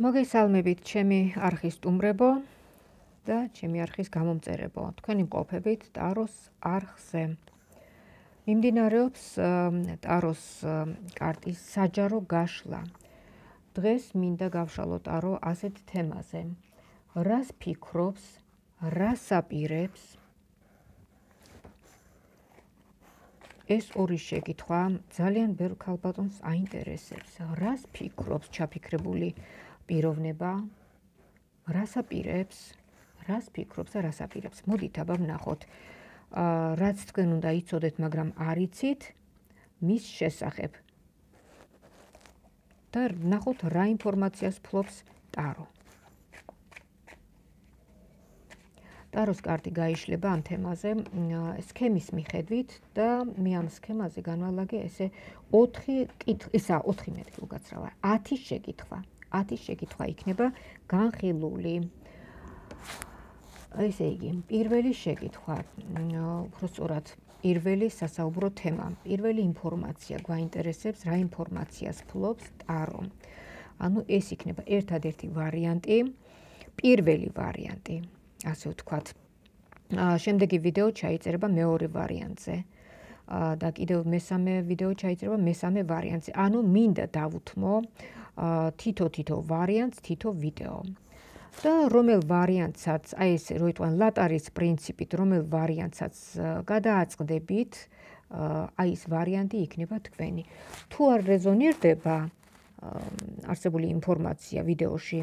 მოგესალმებით ჩემი არხის სტუმრებო და ჩემი არხის გამომწერებო. თქვენი მყოფებით ტაროს არხზე. მიმდინარეობს ტაროს კარტის საჯარო გაშლა. დღეს მინდა გავშალო ტარო ასეთ თემაზე. რას ფიქრობს, რას აპირებს? ეს ორი შეკითხვა ძალიან ბევრ ქალბატონს აინტერესებს. რას ფიქრობს ჩაფიქრებული პიროვნება? რას აპირებს? რას ფიქრობს და რას აპირებს? მოდით აბა ვნახოთ. რაც თქვენ უნდა იცოდეთ, მაგრამ არ იცით მის შესახებ. და ვნახოთ რა ინფორმაციას ფლობს ტარო. ტაროს კარტი გაიშლება ამ თემაზე სქემის მიხედვით და მე ამ სქემაზე განვალაგე ესე 4 მეტი უკაცრავა 10 შეკითხვა. 10 შეკითხვა იქნება განხილული. ესე იგი, პირველი შეკითხვა, უფრო სწორად, პირველი სასაუბრო თემა, პირველი ინფორმაცია გვაინტერესებს, რა ინფორმაციას ფლობს ტარო. ანუ ეს იქნება ერთადერთი ვარიანტი, პირველი ვარიანტი. ასე ვთქვათ. შემდეგი ვიდეო ჩაიწერება მეორე ვარიანტზე. და კიდევ მესამე ვიდეო ჩაიწერება მესამე ვარიანტზე. ანუ მინდა დავუთმო თითო ვარიანტს, თითო ვიდეო. და რომელ ვარიანტსაც, აი ეს რო იტყვიან ლატარის პრინციპით, რომელ ვარიანტსაც გადააწყდებით, აი ეს ვარიანტი იქნება თქვენი. თუ არ რეზონირდება არსებული ინფორმაცია ვიდეოში,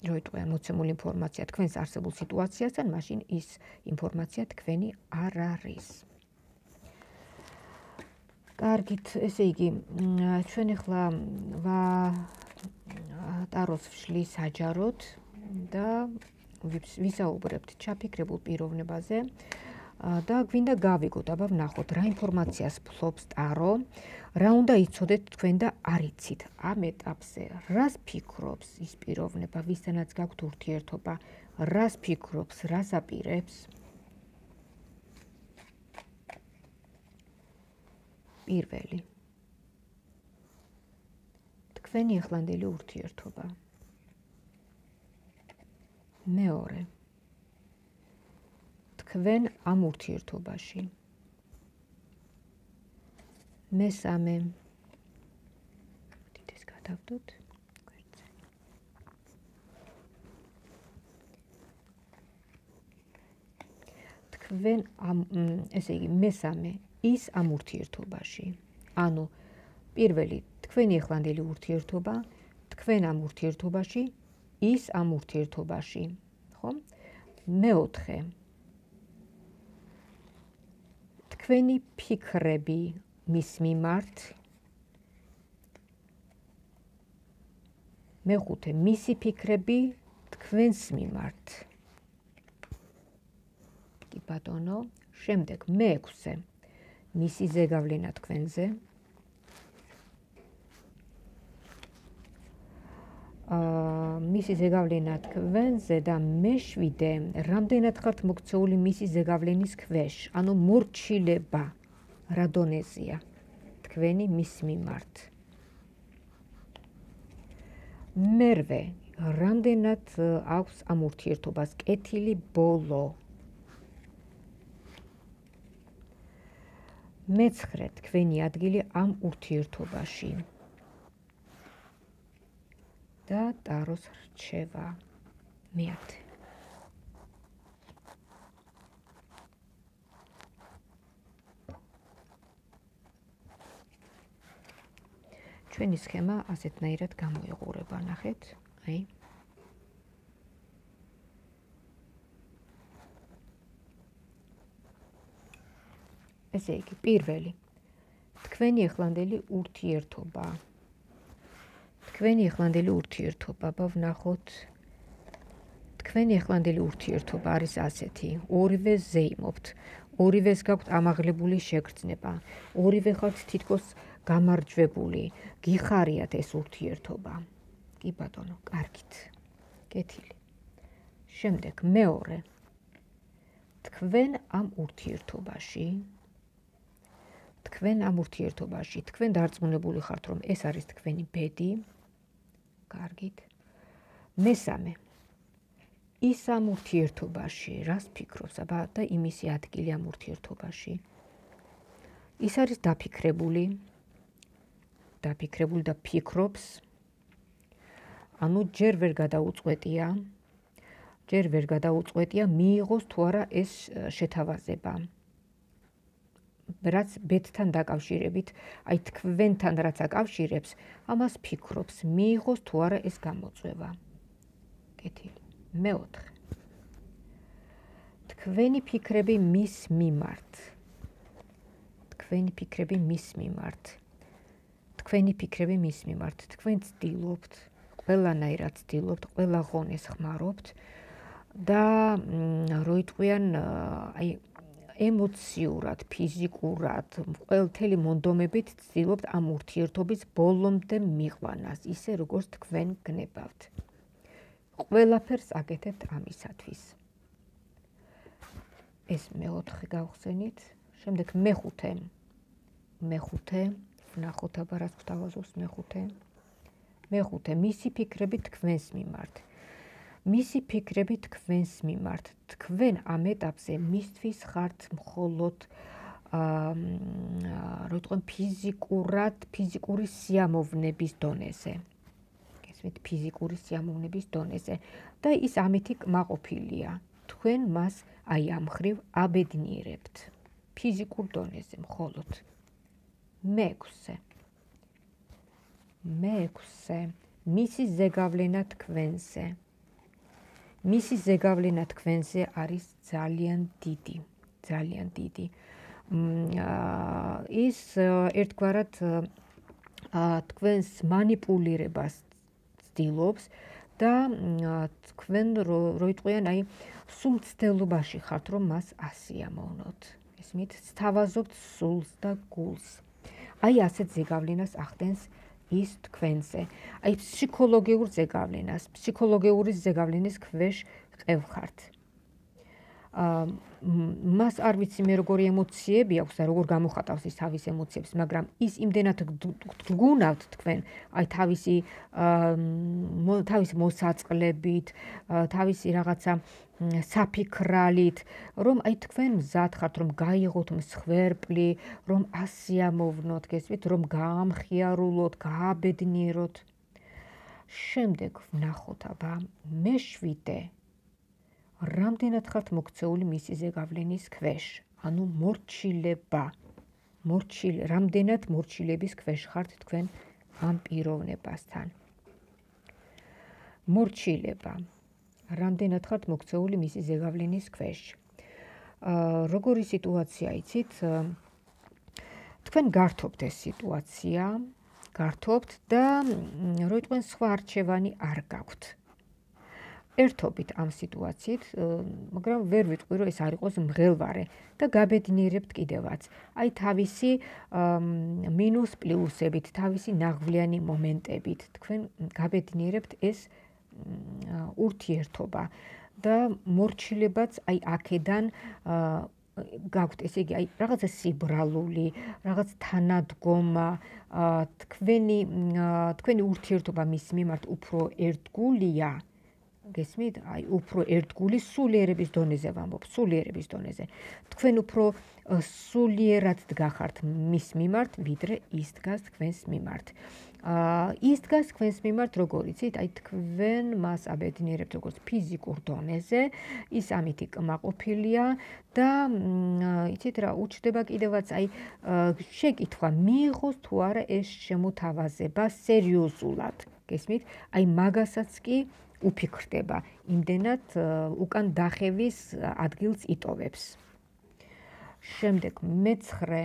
რო იტყვიან მოცემული ინფორმაცია თქვენს არსებულ სიტუაციასთან, მაშინ ის ინფორმაცია თქვენი არ არის. კარგით, ესე იგი, ჩვენ ახლა ტაროს ვშლი საჯაროდ და ვისაუბრებთ ჩაფიქრებულ პიროვნებაზე და გვინდა გავიგოთ, აბა ვნახოთ რა ინფორმაციას ფლობს ტარო, რა უნდა იცოდეთ თქვენ და არ იცით ამ ეტაპზე, რას ფიქრობს ის პიროვნება, ვისთანაც გაქვთ ურთიერთობა, რას ფიქრობს, რას აპირებს? პირველი. თქვენი ახლანდელი ურთიერთობა. მეორე. თქვენ ამ ურთიერთობაში. მესამე. მოდით ეს გადავდოთ გვერდზე. თქვენ ამ ესე იგი მესამე ის ამ ურთიერთობაში. ანუ პირველი თქვენი ახლანდელი ურთიერთობა, თქვენ ამ ურთიერთობაში, ის ამ ურთიერთობაში, ხო? მეოთხე. თქვენი ფიქრები მის მიმართ. მეხუთე, მისი ფიქრები თქვენს მიმართ. კი ბატონო, შემდეგ მეექვსე. მისი ზეგავლენა თქვენზე. მისი ზეგავლენა თქვენზე და მეშვიდე, რამდენად ხართ მოქცეული მისი ზეგავლენის ქვეშ, ანუ მორჩილება, რა დონეზეა თქვენი მის მიმართ. მერვე, რამდენად აქვს ამ ურთიერთობას კეთილი ბოლო. მეცხრე, თქვენი ადგილი ამ ურთიერთობაში. და ტაროს რჩევა. მეათე. ჩვენი სქემა ასეთნაირად გამოიყურება, ნახეთ, აი. ესე იგი, პირველი. თქვენი ახლანდელი ურთიერთობა. თქვენი ახლანდელი ურთიერთობა, ვნახოთ. თქვენი ახლანდელი ურთიერთობა არის ასეთი, ორივე ზეიმობთ, ორივეს გაქვთ ამაღლებული შეგრძნება, ორივე ხართ თითქოს გამარჯვებული, გიხარიათ ეს ურთიერთობა. კი ბატონო, კარგით. კეთილი. შემდეგ მეორე. თქვენ ამ ურთიერთობაში თქვენ ამ ურთიერთობაში, თქვენ დარწმუნებული ხართ, რომ ეს არის თქვენი ბედი. კარგით. მესამე ის ამ ურთიერთობაში რას ფიქრობს აბა და იმისი ადგილი ამ ურთიერთობაში ის არის დაფიქრებული და ფიქრობს ანუ ჯერ ვერ გადაუწყვეტია მიიღოს თუ არა ეს შეთავაზება რაც ბედთან დაკავშირებით აი თქვენთან რაც აკავშირებს ამას ფიქრობს მიიღოს თუ არა ეს გამოწვევა კეთილი მეოთხე თქვენი ფიქრები მის მიმართ თქვენ ცდილობთ ყველანაირად ცდილობთ ყველა ღონეს ხმარობთ და როიტყვიან აი ემოციურად, ფიზიკურად, ყველთელი მონდომებით ცდილობთ ამ ურთიერთობის ბოლომდე მიყვანას, ისე როგორც თქვენ გნებავთ. ყველაფერს აკეთებთ ამისათვის. ეს მეოთხე გავხსენით, შემდეგ მეხუთე, ვნახოთ აბა რას გვთავაზობს მეხუთე, მისი ფიქრები თქვენს მიმართ. თქვენ ამ ეტაპზე მისთვის ხართ მხოლოდ ფიზიკური სიამოვნების დონეზე. გესმით, ფიზიკური სიამოვნების დონეზე და ის ამითი კმაყოფილია. თქვენ მას აი ამ ხრივ აბედნიერებთ. ფიზიკურ დონეზე მხოლოდ. მეექვსე. მისი ზეგავლენა თქვენზე. მისი ზეგავლენა თქვენზე არის ძალიან დიდი. ის ერთგვარად თქვენს манипулირებას ცდილობს და თქვენ როიტყვიან აი სულ მცდელობაში ხართ რომ მას ასიამოვნოთ. ესმით, სთავაზობთ სულს და გულს. აი ასეთ ზეგავლენას ახდენს ის თქვენზე. აი ფსიქოლოგიური ზეგავლენის ქვეშ ყევხართ. მას არ ვიცი მე როგორი ემოციები აქვს და როგორ გამოხატავს ის თავის ემოციებს, მაგრამ ის იმდენად გგუნავთ თქვენ, აი თავისი მოსაწყლებით, თავისი რაღაცა საფიქრალით, რომ აი თქვენ მზად ხართ, რომ გაიღოთ მსხვერპლი, რომ ასიამოვნოთ, გესმით, რომ გაამხიარულოთ, გააბედნიეროთ. შემდეგ ვნახოთ აბა მეშვიდე რამდენად ხართ მოქცეული მისი ზეგავლენის ქვეშ, ანუ რამდენად მორჩილების ქვეშ ხართ თქვენ ამ პიროვნებასთან. მორჩილება. რამდენად ხართ მოქცეული მისი ზეგავლენის ქვეშ. როგორი სიტუაცია იცით? თქვენ გართობთ ეს სიტუაცია, და როიტყვენ სხვა არჩევანი არ გაქვთ. ერთობით ამ სიტუაციით, მაგრამ ვერ ვიტყვი, რომ ეს არ იყოს მღელვარე და გაბედნიერებთ კიდევაც. აი თავისი მინუს პლუსებით, თავისი ნაღვლიანი მომენტებით, თქვენ გაბედნიერებთ ეს ურთიერთობა და მორჩილებაც აი აქედან გაქვთ, ესე იგი, აი რაღაცა სიბრალული, რაღაც თანადგომა, თქვენი ურთიერთობა მის მიმართ უფრო ერთგულია. გესმით? აი უფრო ერთგული სულიერების დონეზე ვამბობ, სულიერების დონეზე. თქვენ უფრო სულიერად დგახართ მის მიმართ, ვიდრე ის დგას თქვენს მიმართ. ის დგას თქვენს მიმართ, როგორ იცით? აი თქვენ მას აბედნიერებთ როგორც ფიზიკურ დონეზე, ის ამით კმაყოფილია და იცით რა, უჩნდება კიდევაც აი შეკითხვა, მიიღოს თუ არა ეს შემოთავაზება სერიოზულად. გესმით? აი მაგასაც კი უფიქრდება, იმდენად უკან დახევის ადგილს იტოვებს. შემდეგ მეცხრე.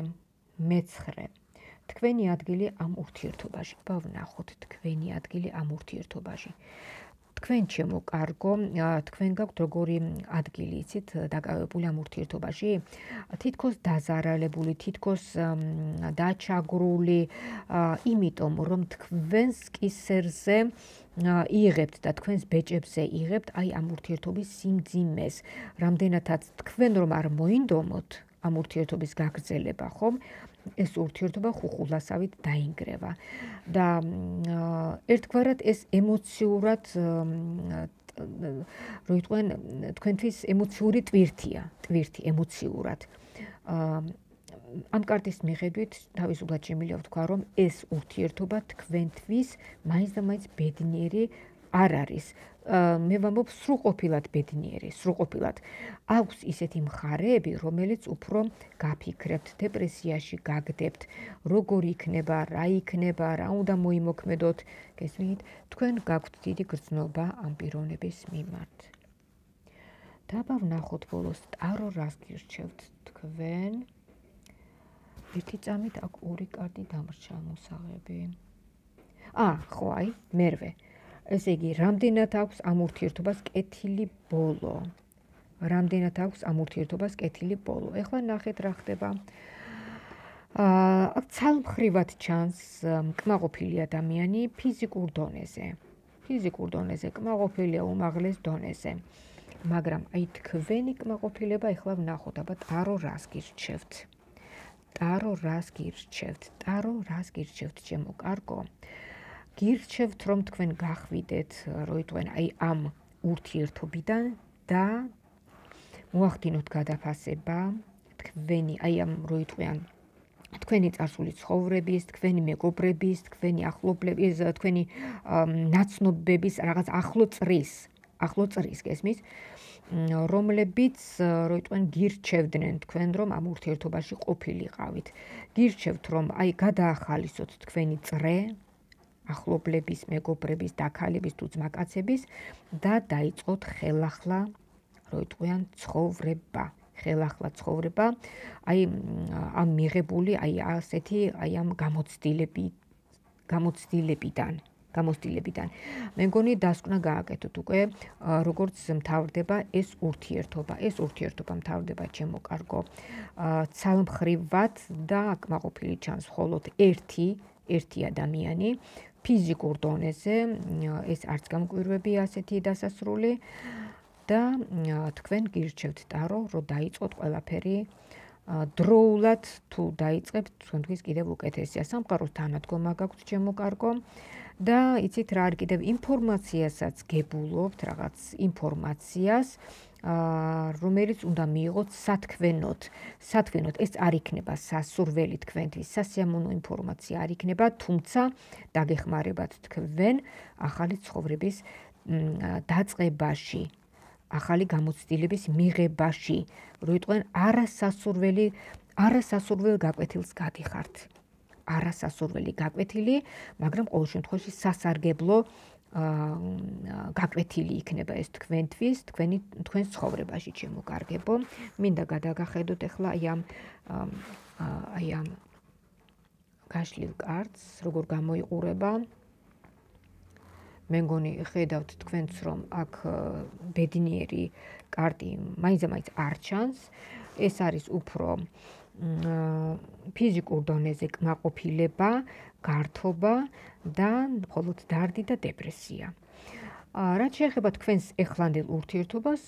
თქვენი ადგილი ამ ურთიერთობაში. ვნახოთ თქვენი ადგილი ამ ურთიერთობაში. თქვენ ჩემო კარგო, თქვენ გაქვთ როგორი ადგილი, იცით, დაკავებული ამ ურთიერთობაში? თითქოს დაზარალებული, თითქოს დაჩაგრული, იმიტომ რომ თქვენს კისერზე იღებთ და თქვენს ბეჭებზე იღებთ აი ამ ურთიერთობის სიმძიმეს. რამდენადაც თქვენ რომ არ მოინდომოთ ამ ურთიერთობის გაგრძელება, ხომ? ეს ურთიერთობა ხუხულასავით დაინგრევა და ერთგვარად ეს ემოციურად რო იყვნენ თქვენთვის ემოციური ტვირთი ემოციურად ამ კარტის მიხედვით თავისუფლად შემიძლია ვთქვა რომ ეს ურთიერთობა თქვენთვის მაინც და მაინც ბედნიერი არ არის მე ვამბობ სრულყოფილად ბედნიერი სრულყოფილად აქვს ისეთი მხარეები რომელიც უფრო გაფიქრებთ დეპრესიაში გაგდებთ როგორ იქნება რა უნდა მოიმოქმედოთ გესმით თქვენ გაქვთ დიდი გრძნობა ამ პიროვნების მიმართ დაბა ვნახოთ ბოლოს ტარო რას გირჩევთ თქვენ ერთი წამით აქ ორი კარტი დამრჩა მოსაღები ხო აი მერვე ესე იგი, რამდენად აქვს ამ ურთიერთობას კეთილი ბოლო. ეხლა ნახეთ რა ხდება. აქ ცალმხრივად ჩანს კმაყოფილი ადამიანი ფიზიკურ დონეზე, კმაყოფილია უმაღლეს დონეზე. მაგრამ აი თქვენი კმაყოფილება ეხლა ვნახოთ, აბა ტარო რას გირჩევთ. ტარო რას გირჩევთ, ჩემო კარგო? გირჩევთ რომ თქვენ გახვიდეთ რო იტყვენ აი ამ ურთიერთობიდან და მოახდინოთ გადაფასება თქვენი აი ამ რო იტყვიან თქვენი წარსული ცხოვრების, თქვენი მეგობრების, თქვენი ახლობლების, თქვენი ნაცნობების რაღაც ახლო წრის გესმის რომლებიც რო იტყვენ გირჩევდნენ თქვენ რომ ამ ურთიერთობაში ყოფილიყავით გირჩევთ რომ აი გადაახალისოთ თქვენი წრე ახლობლების, მეგობრების, დაქალების თუ ძმაკაცების და დაიწყოთ ხელახლა, რო იტყვიან ცხოვრება. აი ამ მიღებული, აი ასეთი, აი ამ გამოცდილებიდან. მე მგონი დასკვნა გააკეთოთ უკვე, როგორც მთავრდება ეს ურთიერთობა. ეს ურთიერთობა მთავრდება ჩემო კარგო. ცალმხრივად და კმაყოფილი ჩანს მხოლოდ ერთი ადამიანი ფიზიკურ დონეზე ეს არც გამკვირვები ასეთი დასასრული და თქვენ გირჩევთ ტარო რომ დაიწყოთ ყველაფერი დროულად თუ დაიწყებთ თქვენთვის კიდევ უკეთესია სამყაროს თანადგომა გაქვთ ჩემო კარგო და იცით რა არის კიდევ ინფორმაციასაც გებულობთ რაღაც ინფორმაციას რომელიც უნდა მიიღოთ სათქმენოდ ეს არ იქნება სასურველი თქვენთვის სასიამოვნო ინფორმაცია არ იქნება თუმცა დაგეხმარებათ თქვენ ახალი ცხოვრების დაწყებაში ახალი გამოცდილების მიღებაში რო იტყვენ არასასურველ გაკვეთილს გადიხართ არასასურველი გაკვეთილი მაგრამ ყოველ შემთხვევაში სასარგებლო გაკვეთილი იქნება ეს თქვენთვის, თქვენს ცხოვრებაში შემოგარგებო. მინდა გადაგახედოთ ახლა აი ამ გაშლილ კარტს, როგორ გამოიყურება. მე მგონი ხედავთ თქვენც რომ აქ ბედნიერი კარტი მაინც არ ჩანს. ეს არის უფრო ფიზიკურ დონეზე კმაყოფილება, გართობა და მხოლოდ დარდი და დეპრესია. რაც შეეხება თქვენს ეხლანდელ ურთიერთობას,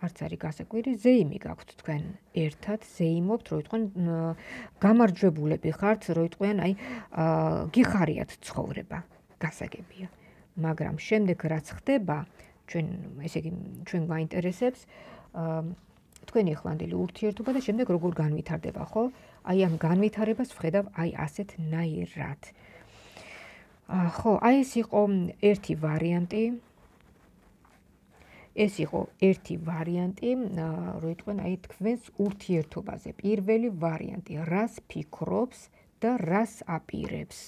არც არის გასაკვირი, ზეიმი გაქვთ თქვენ ერთად, ზეიმობთ, რო იტყვენ გამარჯვებულები ხართ, რო იტყვიან აი გიხარიათ ცხოვრება, გასაგებია. მაგრამ შემდეგ რაც ხდება, ჩვენ გვაინტერესებს თქვენი ეხლანდელი ურთიერთობა და შემდეგ როგორ განვითარდება, ხო? აი ამ განვითარებას ვხედავ აი ასეთნაირად. ხო, აი ეს იყო ერთი ვარიანტი, რო იტყვენ აი თქვენს ურთიერთობაზე. პირველი ვარიანტი, რას ფიქრობს და რას აპირებს.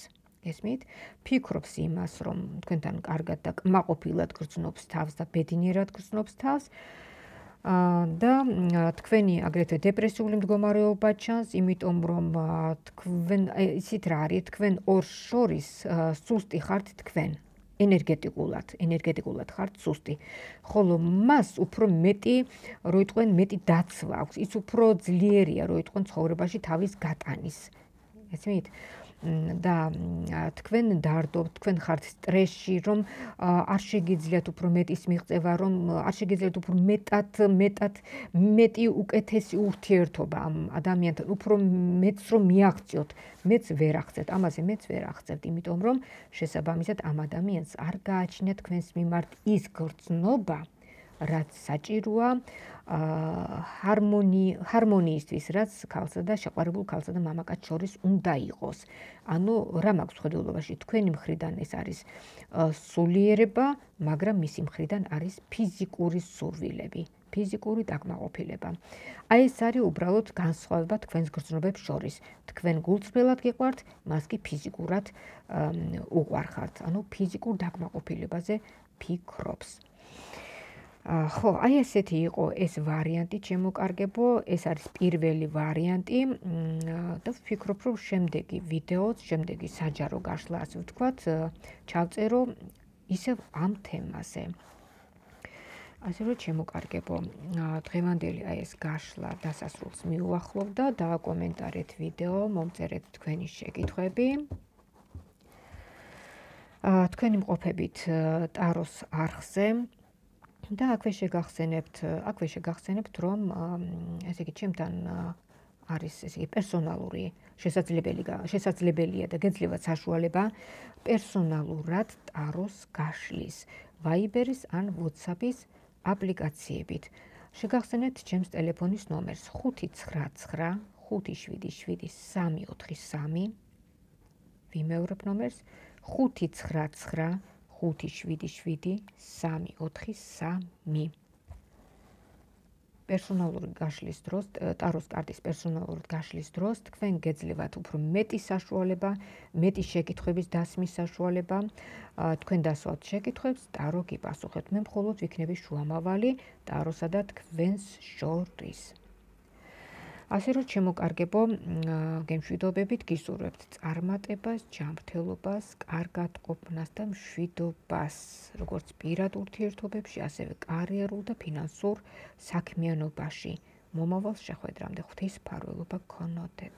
გესმით? ფიქრობს იმას, რომ თქვენთან კარგად და კმაყოფილად გრძნობს თავს და ბედნიერად გრძნობს თავს. და თქვენი აგრეთვე დეპრესიული მდგომარეობა ჩანს, იმიტომ რომ თქვენ ისიც რა არის, თქვენ ორს შორის სუსტი ხართ თქვენ, ენერგეტიკულად ხართ სუსტი. ხოლო მას უფრო მეტი, რო იტყვენ, მეტი დაცვა აქვს, ის უფრო ძლიერია, რო იტყვენ ცხოვრებაში თავის გატანის. გესმით? და თქვენ დარდობთ, თქვენ ხართ სტრესში, რომ არ შეგიძლიათ უფრო მეტის მიღწევა, რომ არ შეგიძლიათ უფრო მეტი უკეთესი ურთიერთობა ამ ადამიანთან, უფრო მეც რომ მიაღწიოთ, მეც ვერ აღწევთ, ამაზე მეც ვერ აღწევთ, იმიტომ რომ შესაბამისად ამ ადამიანს არ გააჩნია თქვენს მიმართ ის გრძნობა, რაც საჭიროა ჰარმონიისთვის, რაც ქალსა და შეყვარებულ ქალსა და მამაკაც შორის უნდა იყოს. ანუ რა მაქვს ხედულობაში, თქვენი მხრიდან ეს არის სულიერება, მაგრამ მისი მხრიდან არის ფიზიკური სურვილები, ფიზიკური დაკმაყოფილება. აი ეს არის უბრალოდ განსხვავება თქვენს გრძნობებს შორის. თქვენ გულწრფელად გიყვართ, მას კი ფიზიკურად უყვარხართ, ანუ ფიზიკურ დაკმაყოფილებაზე ფიქრობს. ხო, აი ესეთი იყო ეს ვარიანტი, ჩემოკარგებო, ეს არის პირველი ვარიანტი და ვფიქრობ, რომ შემდეგი ვიდეოც, შემდეგი საჯარო გაშლა, ასე ვთქვათ, ჩავწერო ისევ ამ თემაზე. ასე რომ ჩემოკარგებო, დღევანდელი აი ეს გაშლა დასასრულს მიუახლოვდა, დააკომენტარეთ ვიდეო, მომწერეთ თქვენი შეკითხვები. თქვენი მყოფებით ტაროს არხზე და აქვე შეგახსენებთ, რომ ესე იგი ჩემთან არის ესე იგი პერსონალური შესაძლებელია და გეძლევათ საშუალება პერსონალურად ტაროს გაშლის Viber-ის ან WhatsApp-ის აპლიკაციებით. შეგახსენებთ ჩემს ტელეფონის ნომერს 599 577 ვიმეორებ ნომერს 599 577 პერსონალური გაშლის დროს, ტაროს კარტის პერსონალური გაშლის დროს თქვენ გეძლევათ უფრო მეტი საშუალება, მეტი შეკითხვების დასმის საშუალება, თქვენ დასვათ შეკითხვებს, ტარო გიპასუხებთ. მე მხოლოდ ვიქნები შუამავალი ტაროსა და თქვენს შორის. ასე რომ ჩემოკარგებო, გემშვიდობებით გისურვებთ წარმატებას, ჯანმრთელობას, კარგად ყოფნას და მშვიდობას, როგორც პირად ურთიერთობებში, ასევე კარიერულ და ფინანსურ საქმიანობაში. მომავალ შეხვედრამდე ღვთის მფარველობა გქონოდეთ.